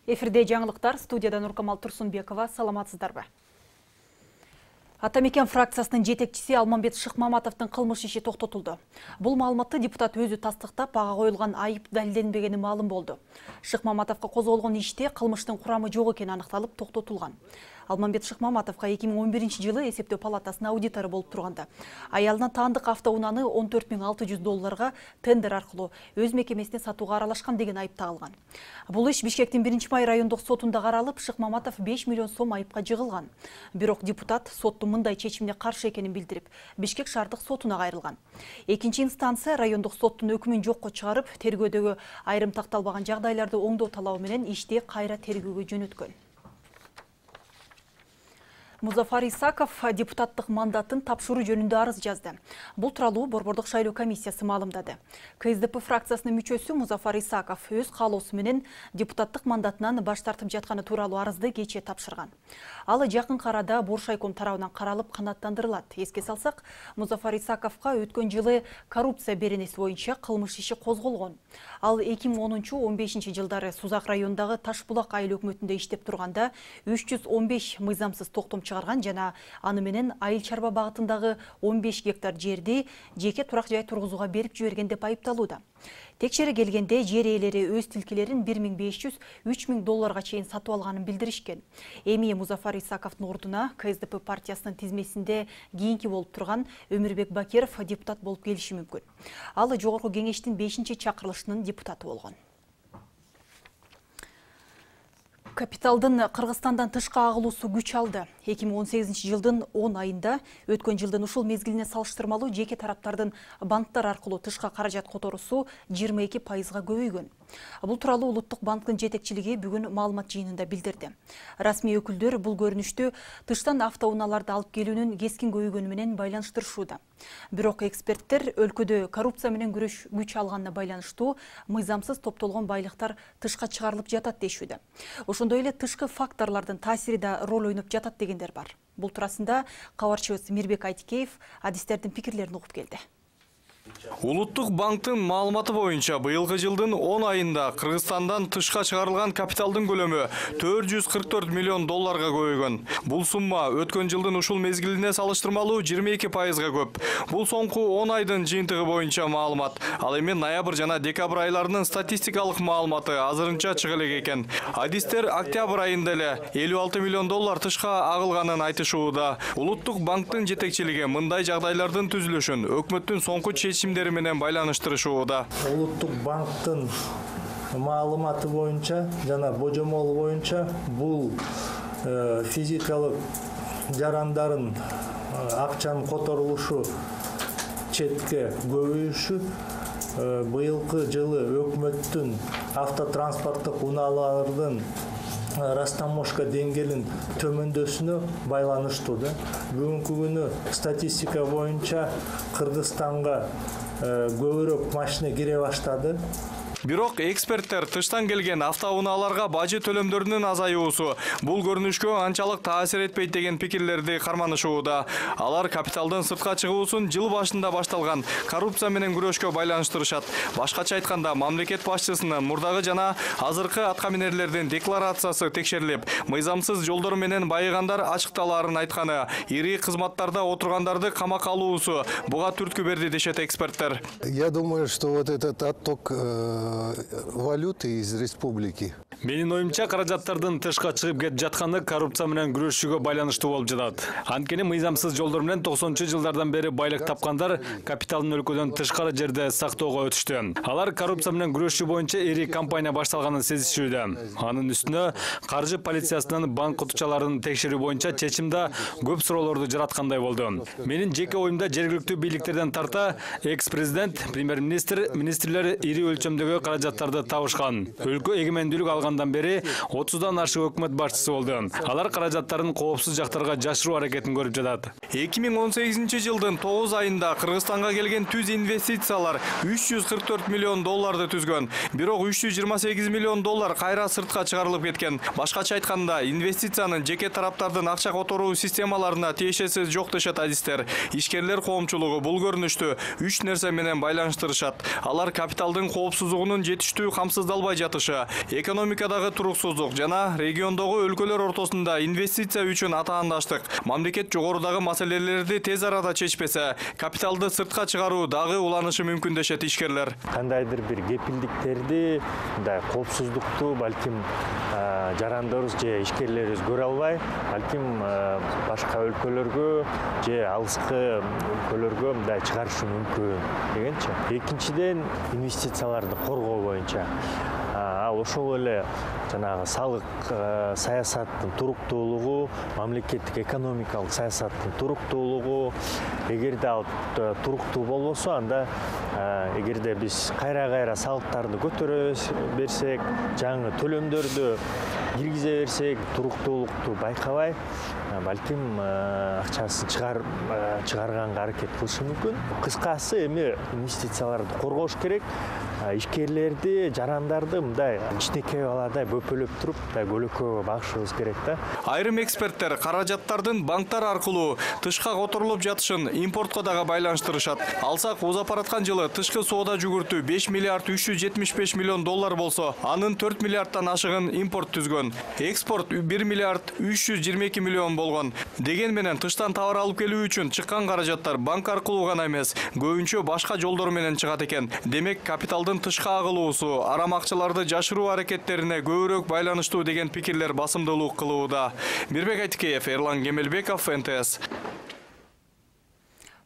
Эфирде жаңылыктар, студияда Нуркамал Турсунбекова. Саламатсыздарбы? Атамекен фракциясынын жетекчиси Алмамбет Шыкмаматовдун кылмыш иши токтотулду. Бул маалыматты депутат өзү тастыктап, ага коюлган айып далилденбегени маалым болду. Шыкмаматовго козголгон иште кылмыштын курамы жок экени аныкталып токтотулган. Алмамбет Шыкмаматовго 2011-жылы эсептөө палатасынын аудитору болуп турганда, аялына таандык автоунааны $14,600 тендер аркылуу өз мекемесине сатууга аралашкан деген айып тагылган. Бул иш Бишкектин 1-май райондук сотунда каралып, Шыкмаматов 5 миллион сом айыпка жыгылган. Бирок депутат соттун мындай чечимине каршы экенин билдирип, Бишкек шаардык сотуна кайрылган. Экинчи инстанция райондук соттун өкүмүн жокко чыгарып, тергөөдөгү айрым такталбаган жагдайларды оңдоо талабы менен ишти кайра тергөөгө жөнөткөн. Музафар Исаков депутаттык мандатын тапшыруу жөнүндө арыз жазды. Бул тууралуу Борбордук шайлоо комиссиясы маалымдады. КСДП фракциясынын мүчөсү Музафар Исаков өз каалоосу менен депутаттык мандатынан баш тартып жатканы тууралуу арызды кечээ тапшырган. Ал жакынкы арада Боршайком тарабынан каралып канааттандырылат. Эске салсак, Музафар Исаковго өткөн жылы коррупция беренеси боюнча кылмыш иши козголгон. Ал 2010-15 жылдары Сузак районундагы Ташбулак айыл өкмөтүндө иштеп турганда 315 мыйзамсыз токтом чыгарган жана аны менен айыл чарба багытындагы 15 гектар жерди жеке турак жай тургузууга берип жиберген деп айыпталууда. Текшере келгенде жер ээлери өз тилкелерин $1,500–3,000 чейин сатып алганын билдиришкен. Эми Музафар Исаковдун ордуна КСДП партиясынын тизмесинде кийинки болуп турган Өмүрбек Бакиров депутат болуп келиши мүмкүн. Ал жогорку кеңештин 5-чакырылышынын депутаты болгон. Капиталдын Кыргызстандан тышка агылуусу күч алды. 2018-жылдын 10 айында өткөн жылдын ушул мезгилине салыштырмалуу жеке тараптардын банктар аркылуу тышка каражат которуусу 22%-га көбөйгөн. Бул тууралуу Улуттук банктын жетекчилиги бүгүн маалымат жыйынында билдирди. Расмий өкүлдөр бул көрүнүштү тыштан автоунааларды алып келүүнүн кескин көбөйгөнү менен байланыштырышууда. Бирок эксперттер өлкөдө коррупция менен күрөш күч алганына байланыштуу мыйзамсыз топтолгон байлыктар тышка чыгарылып жатат дешүүдө. Ошондой эле тышкы факторлордун таасири да роль ойноп жатат дегендер бар. Бул туурасында кабарчыбыз Мирбек Айтикеев адистердин пикирлерин угуп келди. Улуттук банктын маалыматы боюнча быйылкы жылдын 10 айында Кыргызстандан тышка чыгарылган капиталдын көлөмү $444 миллион көбөйгөн. Бул сумма өткөн жылдын ушул мезгилине салыштырмалуу 22%-га көп. Бул соңку 10 айдын жыйынтыгы боюнча маалымат. Ал эми ноябрь жана декабрь айларынын статистикалык маалыматы азырынча чыга элек экен. Адистер октябрь айында эле $56 миллион тышка агылганын айтышууда. Улуттук банктын жетекчилиги мындай жагдайлардын түзүлүшүн өкмөттүн соңку чечимдери менен байланыштырышууда. Улуттук банктын маалыматы боюнча жана божомолу боюнча бул физикалык жарандарын акчанын которулушу четке көбөйүшү быйылкы жылы өкмөттүн автотранспорттук унаалардын растаможка деңгээлин төмөндөсүнө байланыштуу. Бүгүнкү күнү статистика боюнча Кыргызстанга көбүрөөк машина кире баштады. Бирок эксперттер тыштан келген автоунааларга бажы төлөмдөрүнүн азаюусу бул көрүнүшкө анчалык таасир этпейт деген пикирлерди карманышууда. Алар капиталдын сыртка чыгуусун жыл башында башталган коррупция менен күрөшкө байланыштырышат. Башкача айтканда, мамлекет башчысынын мурдагы жана азыркы аткаминерлердин декларациясы текшерилип, мыйзамсыз жолдор менен байыгандар ачыкталаарын айтканы, ири кызматтарда отургандарды камакка алуусу буга түрткү берди дешет эксперттер. Я думаю, что вот этот отток валюты из республики. Менин оюмча, каражаттардын тышка чыгып кетип жатканы коррупция менен күрөшүүгө байланыштуу болуп жатат. Анткени мыйзамсыз жолдор менен 90-жылдардан бери байлык тапкандар капиталын өлкөдөн тышкары жерде сактоого өтүштү. Алар коррупция менен күрөшүү боюнча ири кампания башталганын сезишүүдө. Анын үстүнө каржы полициясынын банк утчаларын текшерүү боюнча чечим да көп суроолорду жараткандай болду. Менин жеке оюмда жергиликтүү бийликтерден тарта экс-президент, премьер-министр, министрлер ири өлчөмдөгү каражаттарды табышкан. Өлкө эгемендүүлүк алгандан бери 30дан ашык өкмөт башчысы болду. Алар каражаттарын коопсуз жактарга жашыруу аракетин көрүп жатат. 2018-жылдын 9 айында Кыргызстанга келген түз инвестициялар $344 миллион түзгөн. Бирок $328 миллион кайра сыртка чыгарылып кеткен. Башкача айтканда, инвестициянын жеке тараптардын акча которуу системаларына тиешеси жок дешет адистер. Ишкерлер коомчулугу бул көрүнүштү 3 нерсе менен байланыштырышат. Алар капиталдын коопсуздугунун чогултуунун жетиштүү камсыздалбай жатышы, экономикадагы туруксуздук жана региондогу өлкөлөр ортосунда инвестиция үчүн атаандаштык, мамлекет жогорудагы маселелерди тез арада чечпесе, капиталды сыртка чыгаруу дагы уланышы мүмкүн дешет ишкерлер. Кандайдыр бир кепилдиктерди, мындай коопсуздукту балким жарандарыбыз же ишкерлерибиз көрө албай, балким башка өлкөлөргө же алыскы өлкөлөргө мындай чыгарышы мүмкүн дегенчи. Экинчиден, инвестицияларды коргоо боюнча ошол эле жанагы салык саясаттын туруктуулугу, мамлекеттик экономикалык саясаттын туруктуулугу, эгерде ал туруктуу болбосо, анда эгерде биз кайра салыктарды көтөрө берсек, жаңы төлөмдөрдү киргизе берсек, туруктуулукту байкабай, балким акчасын чыгарганга аракет кылышы мүмкүн. Кыскасы, эми инвестицияларды коргош керек, ишкерлерди, жарандарды мындай кичинекей баладай бөпөлөп туруп, көлөкөгө багышыбыз керек да. Айрым эксперттер каражаттардын банктар аркылуу тышка которулуп жатышын импортко дагы байланыштырышат. Алсак, узапараткан жылы тышкы соода жүгүртүү 5 миллиард 375 миллион доллар болсо, анын 4 миллиардтан ашыгын импорт түзгөн. Экспорт 1 миллиард 322 миллион болгон. Деген менен тыштан товар алып келүү үчүн чыккан каражаттар банк аркылуу гана эмес, көбүнчө башка жолдор менен чыгат экен. Демек, капиталдын тышка агылуусу арам акчаларды жашыруу аракеттерине көбүрөөк байланыштуу деген пикирлер басымдуулук кылууда. Мирбек Айтикеев, Эрлан Кемелбеков, НТС.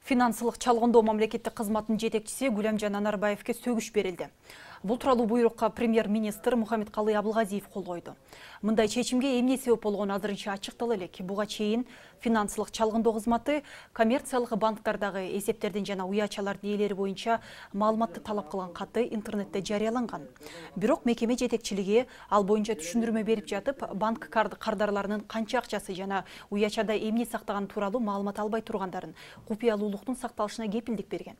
Финансылык чалгындоо мамлекеттик кызматтын жетекчиси Гүлөмжан Анарбаевке сөгүш берилди. Бул тууралуу буйрукка премьер-министр Мухаммедкалый Абылгазиев кол койду. Мындай чечимге эмне себеп болгону азырынча ачыктала элек. Буга чейин финансылык чалгындоо кызматы коммерциялык банктардагы эсептердин жана уячалардын ээлери боюнча маалыматты талап кылган каты интернетте жарыяланган. Бирок мекеме жетекчилиги ал боюнча түшүндүрмө берип жатып, банк кардарларынын канча акчасы жана уячада эмне сактаганы тууралуу маалымат албай тургандарын, купуялуулуктун сакталышына кепилдик берген.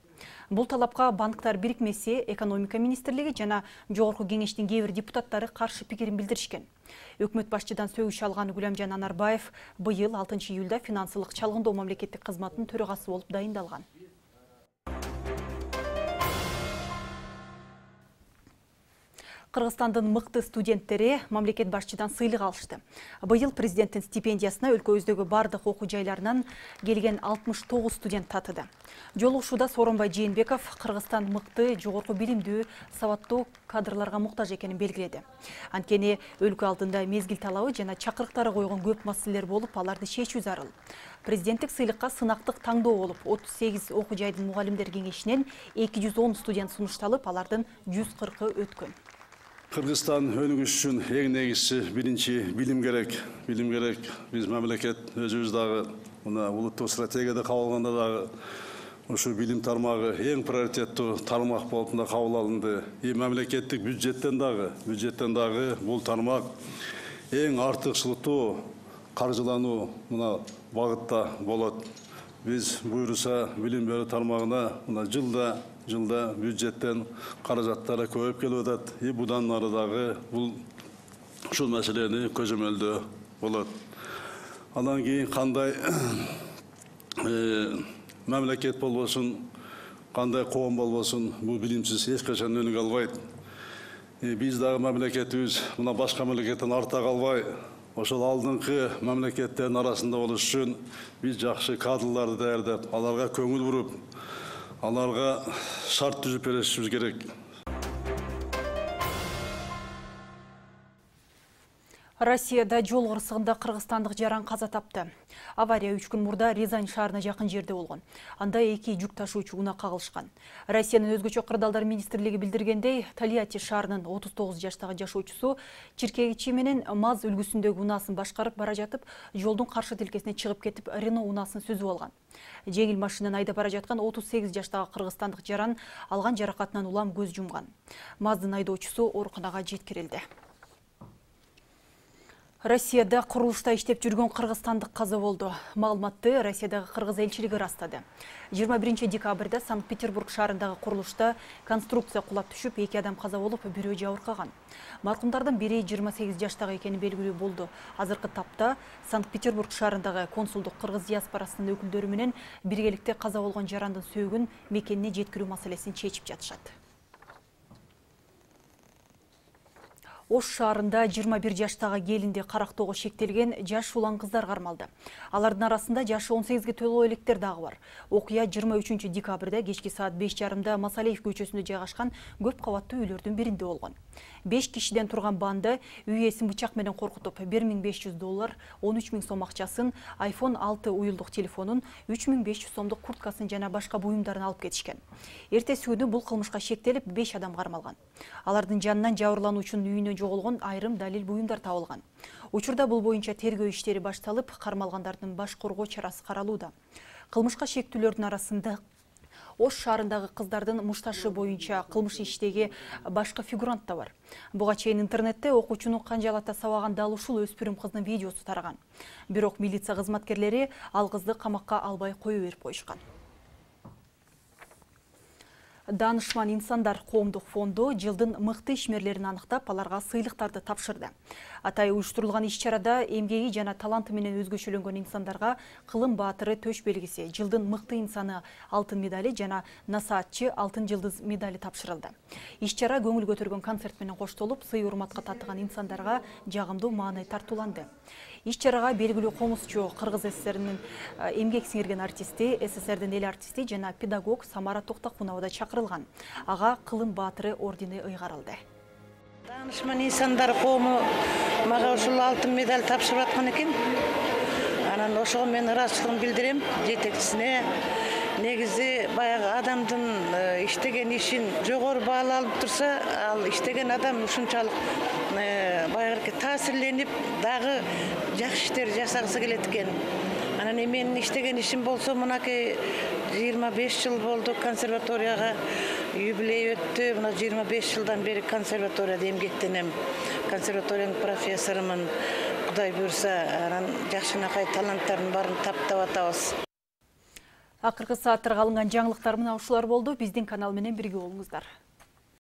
Бул талапка банктар бирикмеси, экономика министрлиги жана жогорку кеңештин кээ бир депутаттары каршы пикирин билдиришкен. Өкмөт башчыдан сөгүш алган Гүлөмжан Анарбаев быйыл 6 июлда финансылык чалгындоо мамлекеттик кызматтын төрагасы болуп дайындалган. Кыргызстандын мыкты студенттери мамлекет башчыдан сыйлык алышты. Быйыл президенттин стипендиясына өлкөбүздөгү бардык окуу жайларынан келген 69 студент татыды. Жолугушууда Сооронбай Жээнбеков Кыргызстан мыкты, жогорку билимдүү, сабаттуу кадрларга муктаж экенин белгиледи. Анткени өлкө алдында мезгил талабы жана чакырыктары койгон көп маселелер болуп, аларды чечүү зарыл. Президенттик сыйлыкка сынактык таңдоо болуп, 38 окуу жайдын мугалимдер кеңешинен 210 студент сунушталып, алардын 140-ы өткөн. Кыргызстан өнүгүш үчүн эң негизчи биринчи билим керек. Билим керек. Биз мамлекет өзүбүз дагы мына улуттук стратегияда кабыл алганда дагы ушу билим тармагы эң приоритеттүү тармак болуп да кабыл алынды. Мамлекеттик бюджеттен дагы бул тармак эң артыкчылыктуу каржылануу мына багытта болот. Биз буйруса билим берүү тармагына мына жылда бюджеттен каражаттары көбөйүп келип атат. Будан ары дагы бул ушул маселени көзөмөлдөө болот. Андан кийин кандай мамлекет болбосун, кандай коом болбосун, бул билимсиз эч качан өнүгө албайт. Биз дагы мамлекетибиз мына башка мамлекеттен арта калбай, ошол алдыңкы мамлекеттердин арасында болуш үчүн биз жакшы кадрларды даярдап, аларга көңүл буруп, аларга шарт түзүп беришибиз керек. Россияда жол кырсыгында кыргызстандык жаран каза тапты. Авария 3 күн мурда Рязань шаарына жакын жерде болгон. Анда 2 жүк ташуучу унаа кагылышкан. Россиянын өзгөчө кырдаалдар министрлиги билдиргендей, Тольятти шаарынын 39 жаштагы жашоочусу чиркегичи менен МАЗ үлгүсүндөгү унаасын башкарып бара жатып, жолдун каршы тилкесине чыгып кетип, Рено унаасын сүзүп алган. Жеңил машинаны айдап бара жаткан 38 жаштагы кыргызстандык жаран алган жаракатынан улам көз жумган. МАЗдын айдоочусу ооруканага жеткирилди. Россияда курулушта иштеп жүргөн кыргызстандык каза болду. Маалыматты Россиядагы кыргыз элчилиги ырастады. 21 декабрда Санкт-Петербург шаарындагы курулушта конструкция кулап түшүп, 2 адам каза болуп, бирөө жабыркаган. Маркумдардын бири 28 жаштагы экени белгилүү болду. Азыркы тапта Санкт-Петербург шаарындагы консулдук кыргыз диаспорасынын өкүлдөрү менен биргеликте каза болгон жарандын сөөгүн мекенине жеткирүү маселесин чечип жатышат. Ош шаарында 21 жаштагы келинди карактоого шектелген жаш улан кыздар кармалды. Алардын арасында жашы 18-ге толуу электер дагы бар. Окуя 23 декабрда кечки саат 5:30 Масалиев көчөсүндө жайгашкан көп кабаттуу үйлөрдүн биринде болгон. 5 кишиден турган банды үй ээсин бычак менен коркутуп $1500, 13 000 сом акчасын, iPhone 6 уюлдук телефонун, 3500 сомдук курткасын жана башка буюмдарын алып кетишкен. Эртеси күнү бул кылмышка шектелип 5 адам кармалган. Алардын жанынан жабырлануучунун үйүнөн жоголгон айрым далил буюмдар табылган. Учурда бул боюнча тергөө иштери башталып, кармалгандардын баш коргоо чарасы каралууда. Кылмышка шектүүлөрдүн арасында Ош шаарындагы кыздардын мушташы боюнча кылмыш иштеги башка фигурант да бар. Буга чейин интернетте окуучуну канжалата сабаган дал ушул өспүрүм кыздын видеосу тараган. Бирок милиция кызматкерлери ал кызды камакка албай кое берип коюшкан. Данышман инсандар коомдук фонду жылдын мыкты ишмерлерин аныктап, аларга сыйлыктарды тапшырды. Атай уюштурулган иш-чарада эмгеги жана таланты менен өзгөчөлөнгөн инсандарга Кылым баатыры төш белгиси, жылдын мыкты инсаны алтын медали жана насаатчы алтын жылдыз медали тапшырылды. Иш-чара көңүл көтөргөн концерт менен коштолуп, сый урматка татыган инсандарга жагымдуу маанай тартууланды. Иш-чарага белгилүү комузчу, Кыргыз ССРнин эмгек сиңирген артисти, СССРдин эл артисти жана педагог Самара Токтокунова да чакырылган. Ага Кылым баатыры ордени ыйгарылды. Данышман инсандар коому мага ушул алтын медаль тапшырып аткан экен. Анан ошого мен ыраазычылыгымды билдирем жетекчисине. Негизи баягы адамдын иштеген ишин жогору бааланып турса, ал иштеген адам ушунчалык баягы таасирленип, дагы жакшы иштер жасагысы келет экен. Анан менин иштеген ишим болсо, мынакей 25 жыл болду консерваторияга юбилей өттү. Мына 25 жылдан бери консерваторияда эмгектенем. Консерваториянын профессорумун. Кудай буйрса, анан жакшынакай таланттардын баарын таптап атабыз. Акыркы сааттарга алынган жаңылыктар мына ушулар болду. Биздин канал менен бирге болуңуздар.